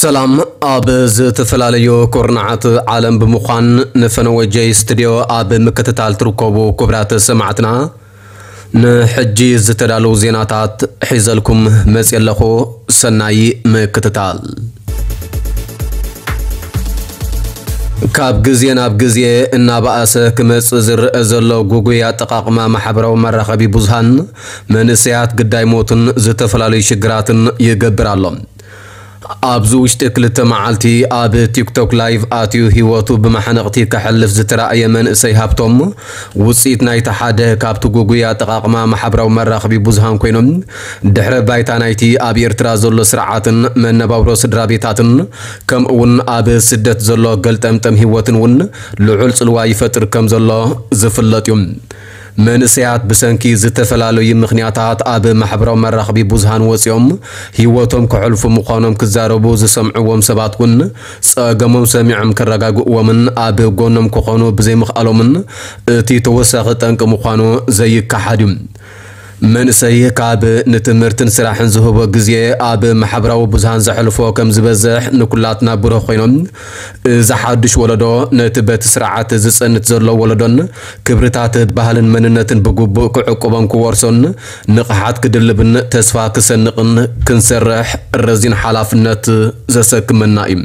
ሰላም። ኣብ ዝተፈላለዩ ኩርናዓት ዓለም ብምዃን ንፈነወ ጀይ ስቱድዮ ኣብ ምክትታል ትርከቡ ክቡራት ሰማዕትና፣ ንሕጂ ዝተዳለዉ ዜናታት ሒዘልኩም መፅየ ኣለኹ። ሰናይ ምክትታል። ካብ ግዜ ናብ ግዜ እናበኣሰ ክመጽእ ዝረአ ዘሎ ጉጉይ ኣጠቓቕማ ማሕበራዊ መራኸቢ ብዙሃን፣ መንእሰያት ግዳይ ሞትን ዝተፈላለዩ ሽግራትን ይገብር ኣሎ። ኣብዚ ውሽጢ ክልተ መዓልቲ ኣብ ቲክቶክ ላይቭ ኣትዩ ህይወቱ ብማሕነቕቲ ከሕልፍ ዝተራእየ መንእሰይ ሃብቶም፣ ውጽኢት ናይቲ ሓደ ካብቲ ጉጉይ ኣጠቓቕማ ማሕበራዊ መራኸቢ ብዙሃን ኮይኖም፣ ድሕረ ባይታ ናይቲ ኣብ ኤርትራ ዘሎ ስርዓትን መነባብሮ ስድራ ቤታትን፣ ከምኡ እውን ኣብ ስደት ዘሎ ገልጠምጠም ህይወትን እውን ልዑል ጽልዋ ይፈጥር ከም ዘሎ ዝፍለጥ እዩ። መንእሰያት ብሰንኪ ዝተፈላለዩ ምኽንያታት ኣብ ማሕበራዊ መራኸቢ ብዙሃን ወጺኦም ህይወቶም ከሕልፉ ምዃኖም ክዛረቡ ዝሰምዕዎም ሰባት እውን፣ ጸገሞም ሰሚዖም ከረጋግእዎምን ኣብ ጎኖም ክኾኑ ብዘይምኽኣሎምን እቲ ተወሳኺ ጠንቂ ምዃኑ ዘይከሓድ እዩ። መንእሰይ ካብ ንትምህርትን ስራሕን ዝህቦ ግዜ ኣብ ማሕበራዊ ብዙሃን ዘሕልፎ ከም ዝበዝሕ ንኩላትና ብሩህ ኮይኖም፣ እዚ ሓድሽ ወለዶ ነቲ በቲ ስርዓት ዝጸንት ዘሎ ወለዶን ክብርታት ባህልን መንነትን ብግቡእ ክዕቁቦን ክወርሶን ንቕሓት ክድልብን ተስፋ ክሰንቕን ክንሰርሕ ረዚን ሓላፍነት ዘሰክመና እዩ።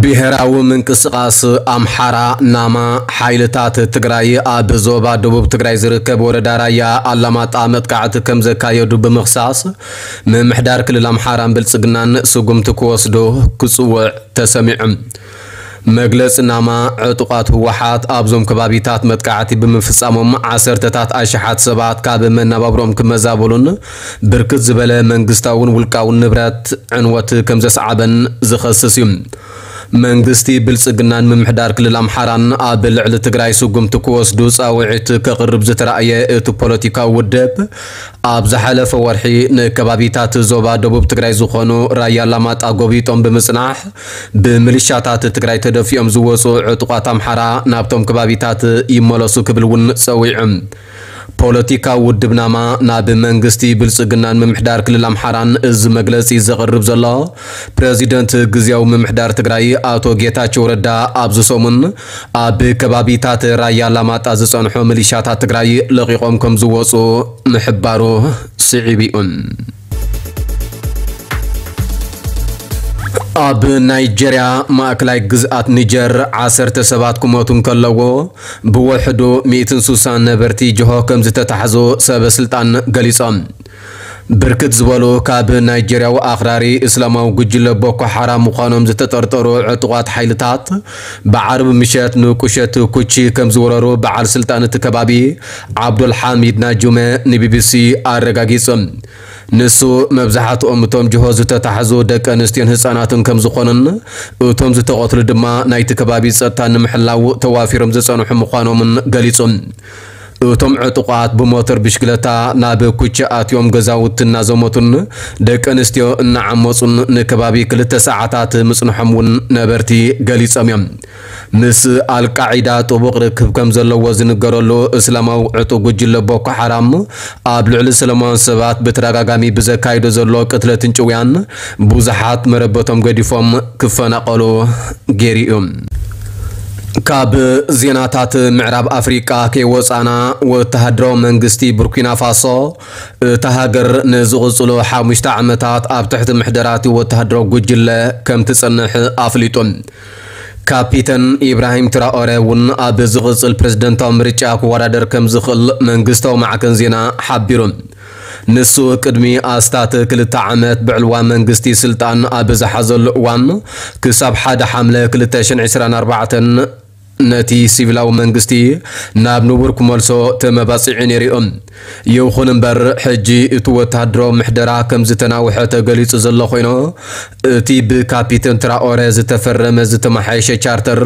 ብሄራዊ ምንቅስቓስ ኣምሓራ፣ ናማ፣ ሓይልታት ትግራይ ኣብ ዞባ ደቡብ ትግራይ ዝርከብ ወረዳ ራያ ኣላማጣ መጥቃዕቲ ከም ዘካየዱ ብምኽሳስ፣ ምምሕዳር ክልል ኣምሓራን ብልጽግናን ስጉምቲ ክወስዱ ክጽውዕ ተሰሚዑ። መግለጺ ናማ፣ ዕጡቓት ህወሓት ኣብዞም ከባቢታት መጥቃዕቲ ብምፍጻሞም ዓሰርተታት ኣሽሓት ሰባት ካብ መነባብሮኦም ክመዛበሉን ብርክት ዝበለ መንግስታውን ውልቃውን ንብረት ዕንወት ከም ዘስዓበን ዝኸስስ እዩ። መንግስቲ ብልጽግናን ምምሕዳር ክልል ኣምሓራን ኣብ ልዕሊ ትግራይ ስጉምቲ ክወስዱ ጻውዒት ከቕርብ ዝተራእየ እቲ ፖለቲካዊ ውድብ፣ ኣብ ዝሓለፈ ወርሒ ንከባቢታት ዞባ ደቡብ ትግራይ ዝኾኑ ራያ ኣላማጣ ጎቢጦም ብምጽናሕ፣ ብምሊሻታት ትግራይ ተደፊኦም ዝወጹ ዕጡቓት ኣምሓራ ናብቶም ከባቢታት ይመለሱ ክብል እውን ጸዊዑ። ፖለቲካዊ ውድብ ናማ ናብ መንግስቲ ብልጽግናን ምምሕዳር ክልል ኣምሓራን እዚ መግለጺ ዘቕርብ ዘሎ፣ ፕረዚደንት ግዝያዊ ምምሕዳር ትግራይ ኣቶ ጌታቸው ረዳ ኣብዚ ሰሙን ኣብ ከባቢታት ራያ ኣላማጣ ዝጸንሑ ሚሊሻታት ትግራይ ለቒቖም ከም ዝወጹ ምሕባሩ ስዒቡ እዩ። ኣብ ናይጀርያ ማእከላይ ግዝኣት ኒጀር ዓሰርተ ሰባት ክሞቱ እንከለዎ፣ ብውሕዱ ሚእትን ስሳን ነበርቲ ጅሆ ከም ዝተታሕዙ ሰበ ስልጣን ገሊጾም። ብርክት ዝበሉ ካብ ናይጀርያዊ ኣኽራሪ እስላማዊ ጉጅለ ቦኮ ሓራም ምዃኖም ዝተጠርጠሩ ዕጡቓት ሓይልታት፣ ብዓርቢ ምሸት ንቁሸት ኩቺ ከም ዝወረሩ በዓል ስልጣን እቲ ከባቢ ዓብዱል ሓሚድ ናጁመ ንቢቢሲ ኣረጋጊጹ። ንሱ፣ መብዛሕትኦም እቶም ጅሆ ዝተታሕዙ ደቂ ኣንስትዮን ህጻናትን ከም ዝኾኑን፣ እቶም ዝተቐትሉ ድማ ናይቲ ከባቢ ጸጥታ ንምሕላው ተዋፊሮም ዝጸንሑ ምዃኖምን ገሊጹ። እቶም ዕጡቓት ብሞተር ብሽክለታ ናብ ኩቺ ኣትዮም ገዛውቲ እናዘመቱን ደቂ ኣንስትዮ እናዓመጹን ንከባቢ ክልተ ሰዓታት ምጽንሖም እውን ነበርቲ ገሊጾም እዮም። ምስ ኣልቃዒዳ ጥቡቕ ርክብ ከም ዘለዎ ዝንገረሉ እስላማዊ ዕጡቕ ጉጅለ ቦኮ ሓራም፣ ኣብ ልዕሊ ሰላማውያን ሰባት ብተደጋጋሚ ብዘካይዶ ዘሎ ቅትለትን ጭውያን፣ ብዙሓት መረበቶም ገዲፎም ክፈናቐሉ ገይሩ እዩ። ካብ ዜናታት ምዕራብ ኣፍሪቃ ከይወጻና፣ ወተሃደራዊ መንግስቲ ቡርኪና ፋሶ፣ እታ ሃገር ንዝቕጽሉ ሓሙሽተ ዓመታት ኣብ ትሕቲ ምሕደራቲ ወተሃደራዊ ጉጅለ ከም ትጸንሕ ኣፍሊጡ። ካፒተን ኢብራሂም ትራኦረ እውን ኣብ ዝቕጽል ፕሬዝደንታዊ ምርጫ ክወዳደር ከም ዝኽእል መንግስታዊ ማዕከን ዜና ሓቢሩ። ንሱ ቅድሚ ኣስታት ክልተ ዓመት ብዕልዋ መንግስቲ ስልጣን ኣብ ዝሓዘሉ እዋን፣ ክሳብ ሓደ ሓምለ ክልተ ሽሕን ዕስራን ኣርባዕተን ነቲ ሲቪላዊ መንግስቲ ናብ ንቡር ክመልሶ ተመባጺዑ ነይሩ እዩ። ይኹን እምበር፣ ሕጂ እቲ ወተሃደራዊ ምሕደራ ከም ዝተናውሐ ተገሊጹ ዘሎ ኮይኑ፣ እቲ ብካፒተን ትራኦረ ዝተፈረመ ዝተመሓየሸ ቻርተር፣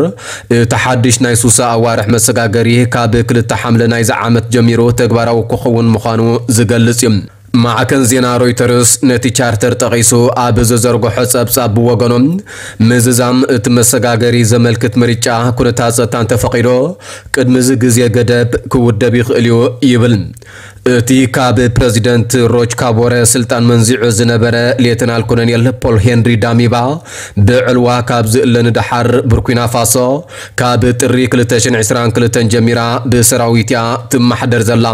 እቲ ሓድሽ ናይ ሱሳ ኣዋርሕ መሰጋገሪ ካብ ክልተ ሓምለ ናይዚ ዓመት ጀሚሩ ተግባራዊ ክኸውን ምዃኑ ዝገልጽ እዩ። ማዕከን ዜና ሮይተርስ ነቲ ቻርተር ጠቒሱ ኣብ ዘዘርግሖ ጸብጻብ ብወገኖም፣ ምዝዛም እቲ መሰጋገሪ ዘመልክት ምርጫ ኩነታት ጸጥታ እንተፈቒዶ፣ ቅድሚ እዚ ግዜ ገደብ ክውደብ ይኽእል እዩ ይብል። እቲ ካብ ፕረዚደንት ሮች ካቦረ ስልጣን መንዚዑ ዝነበረ ሌተናል ኮሎኔል ፖል ሄንሪ ዳሚባ፣ ብዕልዋ ካብ ዝእለ ንደሓር፣ ቡርኪና ፋሶ ካብ ጥሪ ክልተ ሽሕን ዕስራን ክልተን ጀሚራ ብሰራዊት እያ ትመሓደር ዘላ።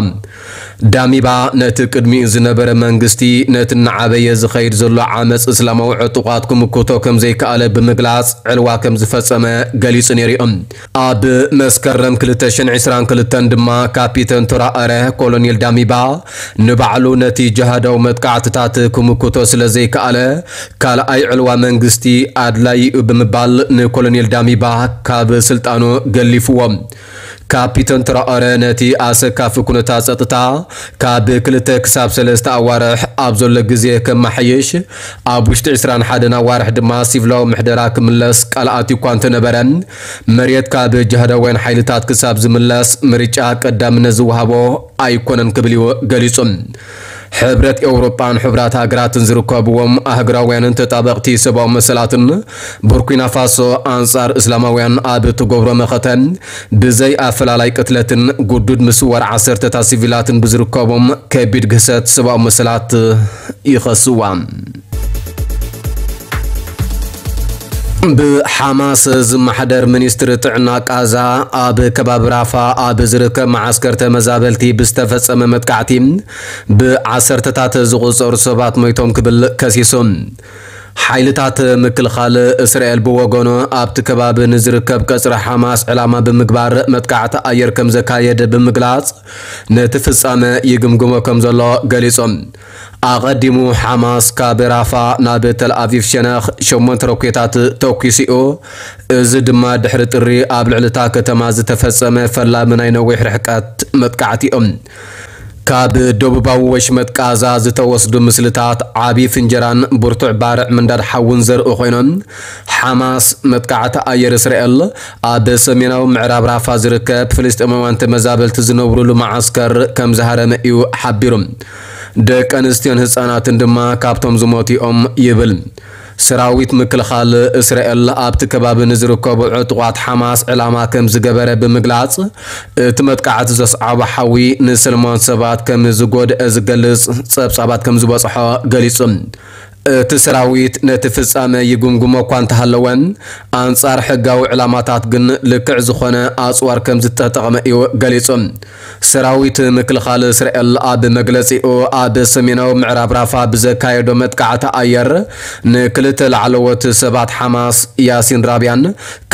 ዳሚባ ነቲ ቅድሚኡ ዝነበረ መንግስቲ፣ ነቲ እናዓበየ ዝኸይድ ዘሎ ዓመጽ እስላማዊ ዕጡቓት ክምክቶ ከም ዘይከኣለ ብምግላጽ፣ ዕልዋ ከም ዝፈጸመ ገሊጹ ነይሩ እዩ። ኣብ መስከረም ክልተ ሽሕን ዕስራን ክልተን ድማ፣ ካፒተን ተራኣረ ኮሎኔል ዳሚባ ንባዕሉ ነቲ ጅሃዳዊ መጥቃዕትታት ክምክቶ ስለ ዘይከኣለ፣ ካልኣይ ዕልዋ መንግስቲ ኣድላዪ እዩ ብምባል፣ ንኮሎኔል ዳሚባ ካብ ስልጣኑ ገሊፍዎ። ካፒተን ተራኣረ ነቲ ኣሰካፊ ኩነታት ጸጥታ ካብ ክልተ ክሳብ ሰለስተ ኣዋርሕ ኣብ ዘሎ ግዜ ከመሓይሽ፣ ኣብ ውሽጢ ዕስራን ሓደን ኣዋርሕ ድማ ሲቪላዊ ምሕደራ ክምለስ ቃል ኣትዩ እኳ እንተነበረ፣ መሬት ካብ ጅሃዳውያን ሓይልታት ክሳብ ዝምለስ፣ ምርጫ ቀዳምነት ዝወሃቦ ኣይኮነን ክብል እዩ ገሊጹ። ሕብረት ኤውሮጳን ሕቡራት ሃገራትን ዝርከብዎም ኣህጉራውያንን ተጣበቕቲ ሰብኣዊ መሰላትን፣ ቡርኪና ፋሶ ኣንጻር እስላማውያን ኣብ እትገብሮ መኸተ፣ ብዘይ ኣፈላላይ ቅትለትን ግዱድ ምስዋር ዓሰርተታት ሲቪላትን ብዝርከቦም ከቢድ ግህሰት ሰብኣዊ መሰላት ይኸስዋ። ብሓማስ ዝመሓደር ሚኒስትሪ ጥዕና ቃዛ፣ ኣብ ከባቢ ራፋ ኣብ ዝርከብ መዓስከር ተመዛበልቲ ብዝተፈጸመ መጥቃዕቲ ብዓሰርተታት ዝቑጸሩ ሰባት ሞይቶም ክብል ከሲሱ። ሓይልታት ምክልኻል እስራኤል ብወገኑ፣ ኣብቲ ከባቢ ንዝርከብ ቀጽሪ ሓማስ ዕላማ ብምግባር መጥቃዕቲ ኣየር ከም ዘካየደ ብምግላጽ፣ ነቲ ፍጻመ ይግምግሞ ከም ዘሎ ገሊጹ። ኣቐዲሙ፣ ሓማስ ካብ ራፋ ናብ ተል ኣቪቭ ሸነኽ ሸሞንተ ሮኬታት ተኲሱ እዩ። እዚ ድማ ድሕሪ ጥሪ ኣብ ልዕሊ እታ ከተማ ዝተፈጸመ ፈላሚ ናይ ነዊሕ ርሕቀት መጥቃዕቲ እዩ። ካብ ደቡባዊ ወሽመጥ ቃዛ ዝተወስዱ ምስልታት፣ ዓቢ ፍንጀራን ብርቱዕ ባርዕ ምንዳድ ሓውን ዘርኢ ኮይኖም፣ ሓማስ መጥቃዕቲ ኣየር እስራኤል ኣብ ሰሜናዊ ምዕራብ ራፋ ዝርከብ ፍልስጤማውያን ተመዛበልቲ ዝነብሩሉ መዓስከር ከም ዝሃረመ እዩ ሓቢሩ። ደቂ ኣንስትዮን ህጻናትን ድማ ካብቶም ዝሞቱ እዮም ይብል። ሰራዊት ምክልኻል እስራኤል ኣብቲ ከባቢ ንዝርከቡ ዕጡቓት ሓማስ ዕላማ ከም ዝገበረ ብምግላጽ፣ እቲ መጥቃዕቲ ዘስዓቦ ሓዊ ንሰለማውያን ሰባት ከም ዝጎድአ ዝገልጽ ጸብጻባት ከም ዝበጽሖ ገሊጹ። እቲ ሰራዊት ነቲ ፍጻመ ይግምግሞ እኳ እንተሃለወ፣ ኣንጻር ሕጋዊ ዕላማታት ግን ልክዕ ዝኾነ ኣጽዋር ከም ዝተጠቕመ እዩ ገሊጹ። ሰራዊት ምክልኻል እስራኤል ኣብ መግለጺኡ፣ ኣብ ሰሜናዊ ምዕራብ ራፋ ብዘካየዶ መጥቃዕቲ ኣየር ንክልተ ላዕለዎት ሰባት ሓማስ፣ ያሲን ራቢያን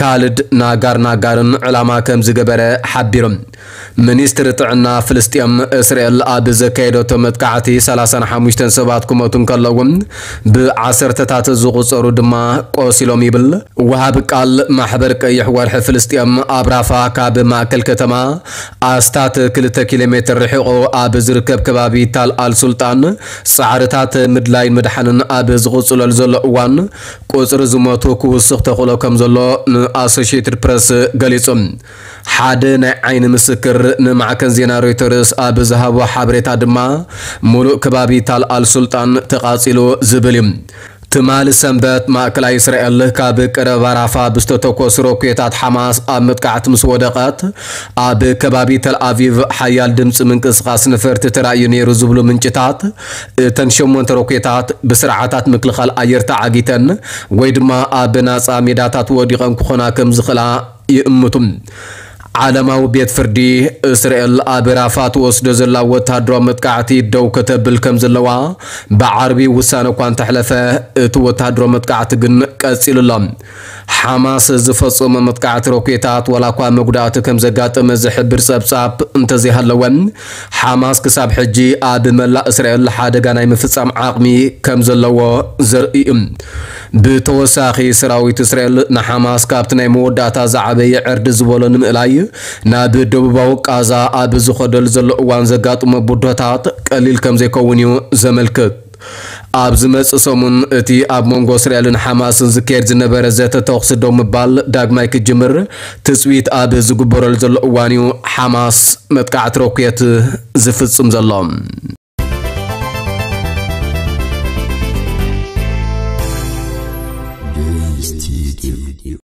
ካልድ ናጋር ናጋርን ዕላማ ከም ዝገበረ ሓቢሩ። ሚኒስትሪ ጥዕና ፍልስጤም፣ እስራኤል ኣብ ዘካየደቶ መጥቃዕቲ ሰላሳን ሓሙሽተን ሰባት ክሞቱ እንከለዉ፣ ብዓሰርተታት ዝቑጸሩ ድማ ቆሲሎም ይብል። ወሃቢ ቃል ማሕበር ቀይሕ ወርሒ ፍልስጤም፣ ኣብ ራፋ ካብ ማእከል ከተማ ኣስታት ክልተ ኪሎ ሜትር ርሒቑ ኣብ ዝርከብ ከባቢ ታል ኣል ሱልጣን፣ ጻዕርታት ምድላይን ምድሓንን ኣብ ዝቕጽለሉ ዘሎ እዋን፣ ቁጽሪ ዝሞቱ ክውስኽ ተኽእሎ ከም ዘሎ ንኣሶሺየትድ ፕረስ ገሊጹ። ሓደ ናይ ዓይኒ ምስክር ንማዕከን ዜና ሮይተርስ ኣብ ዝሃቦ ሓበሬታ ድማ፣ ሙሉእ ከባቢ ታል ኣል ሱልጣን ተቓጺሉ ዝብል እዩ። ትማሊ ሰንበት፣ ማእከላይ እስራኤል ካብ ቀረባ ራፋ ብዝተተኮሱ ሮኬታት ሓማስ ኣብ መጥቃዕቲ ምስ ወደቐት፣ ኣብ ከባቢ ተል ኣቪቭ ሓያል ድምጺ ምንቅስቓስ ነፈርቲ ተራእዩ ነይሩ ዝብሉ ምንጭታት፣ እተን ሸሞንተ ሮኬታት ብስርዓታት ምክልኻል ኣየር ተዓጊተን ወይ ድማ ኣብ ናጻ ሜዳታት ወዲቐን ክኾና ከም ዝኽእላ ይእምቱ። ዓለማዊ ቤት ፍርዲ፣ እስራኤል ኣብ ራፋ ትወስዶ ዘላ ወተሃደራዊ መጥቃዕቲ ደው ከተብል ከም ዘለዋ ብዓርቢ ውሳነ እኳ እንተሕለፈ፣ እቲ ወተሃደራዊ መጥቃዕቲ ግን ቀጺሉ ኣሎ። ሓማስ ዝፈጸሞ መጥቃዕቲ ሮኬታት ዋላ እኳ መጉዳእቲ ከም ዘጋጠመ ዝሕብር ጸብጻብ እንተዘይሃለወ፣ ሓማስ ክሳብ ሕጂ ኣብ መላእ እስራኤል ሓደጋ ናይ ምፍጻም ዓቕሚ ከም ዘለዎ ዘርኢ እዩ። ብተወሳኺ፣ ሰራዊት እስራኤል ንሓማስ ካብቲ ናይ መወዳእታ ዝዓበየ ዕርዲ ዝበሎ ንምእላይ ናብ ደቡባዊ ቃዛ ኣብ ዝኸደሉ ዘሎ እዋን ዘጋጥሞ ብድሆታት ቀሊል ከም ዘይከውን እዩ ዘመልክት። ኣብ ዝመጽእ ሰሙን፣ እቲ ኣብ መንጎ እስራኤልን ሓማስን ዝካየድ ዝነበረ ዘተ ተኹሲ ደው ምባል ዳግማይ ክጅምር ትጽቢት ኣብ ዝግበረሉ ዘሎ እዋን እዩ ሓማስ መጥቃዕቲ ሮኬት ዝፍጽም ዘሎ።